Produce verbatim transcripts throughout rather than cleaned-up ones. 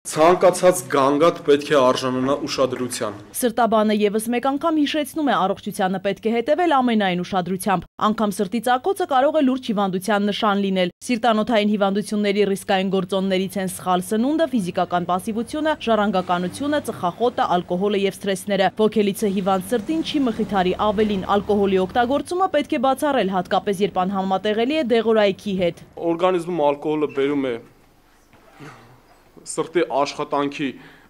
Ցանկացած գանգատ պետք է արժանանա ուշադրության։ Սրտաբանը եւս մեկ անգամ հիշեցնում է առողջությանը պետք է հետևել ամենայն ուշադրությամբ։ Անգամ սրտի ծակոցը կարող է լուրջ հիվանդության նշան լինել։ Սիրտանոթային հիվանդությունների ռիսկային գործոններից են սխալ սնունդը, ֆիզիկական պասիվությունը, ժառանգականությունը, ծխախոտը, ալկոհոլը եւ սթրեսները։ Ոգելիցը հիվանդ սրտին չի մխիթարի, ավելին ալկոհոլի օգտագործումը պետք է բացառել, հատկապես երբ անհամատեղելի է դեղորայքի հետ։ Օրգանիզմում ալկոհոլը բերում է սրտի աշխատանքի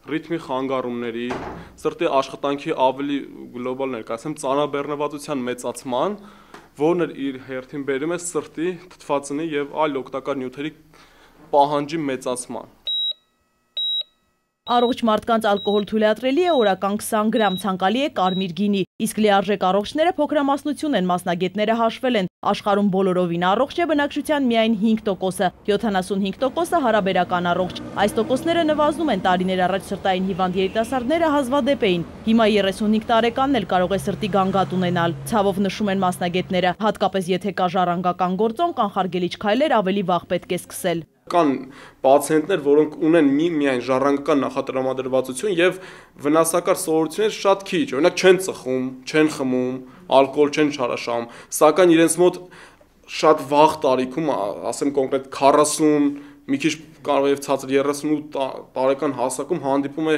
ռիթմի խանգարումների, սրտի աշխատանքի ավելի գլոբալ ներկայացում ծանրաբեռնվածության մեծացման, որն իր հերթին բերում է սրտի թթվածնի եւ այլ օգտակար նյութերի պահանջի մեծացման։ Առողջ մարդկանց ալկոհոլ թույլատրելի է օրական քսան գրամ, ցանկալի է կարմիր գինի, իսկ լիարժեք առողջները փոքրամասնություն են, մասնագետները հաշվել են, աշխարհում բոլորովին առողջ է բնակչության միայն հինգ տոկոսը, յոթանասունհինգ տոկոսը հարաբերական առողջ։ Այս տոկոսները նվազում են, տարիներ առաջ սրտային հիվանդ երիտասարդները հազվադեպ էին, հիմա երեսունհինգ տարեկանն էլ կարող է սրտի գանգատ ունենալ, ցավով նշում են մասնագետները, հատկապես եթե կա ժառանգական գործոն, կանխարգելիչ քայլեր ավելի վաղ պետք է սկսել։ Կան պացիենտներ, որոնք ունեն մի միայն ժառանգական նախատրամադրվածություն եւ վնասակար սովորություններ շատ քիչ, օրինակ չեն ծխում, չեն խմում, ալկոհոլ չեն չարաշահում, սակայն իրենց մոտ շատ վաղ տարիքում, ասեմ կոնկրետ քառասուն, մի քիչ կարող է ցածր երեսունութ տարեկան հասակում հանդիպում է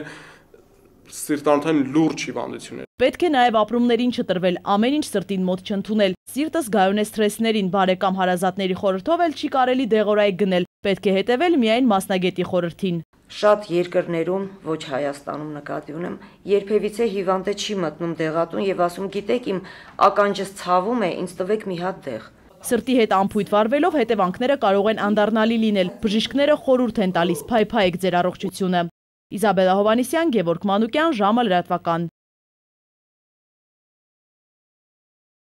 սիրտանոթային լուրջ հիվանդություններ։ Պետք է նաև ապրումներին չտրվել, ամեն ինչ սրտին մոտ չընդունել։ Սիրտը զգայուն է սթրեսներին, բարեկամ հարազատների խորհրդով էլ չի կարելի դեղորայք գնել, պետք է հետևել միայն մասնագետի խորհրդին։ Շատ երկրներում, ոչ Հայաստանում նկատի ունեմ, երբևիցե հիվանդը չի մտնում դեղատուն եւ ասում, գիտեք, իմ ականջս ցավում է, ինձ տվեք մի հատ դեղ։ Սրտի հետ անփույթ վարվելով հետևանքները կարող են անդառնալի լինել։ Բժիշկները խորհուրդ են տալիս՝ փայփայեք ձեր առողջությունը։ Իզաբելլա Հովհաննիսյան, Գևորգ Մանուկյան, ժամը լրատվական։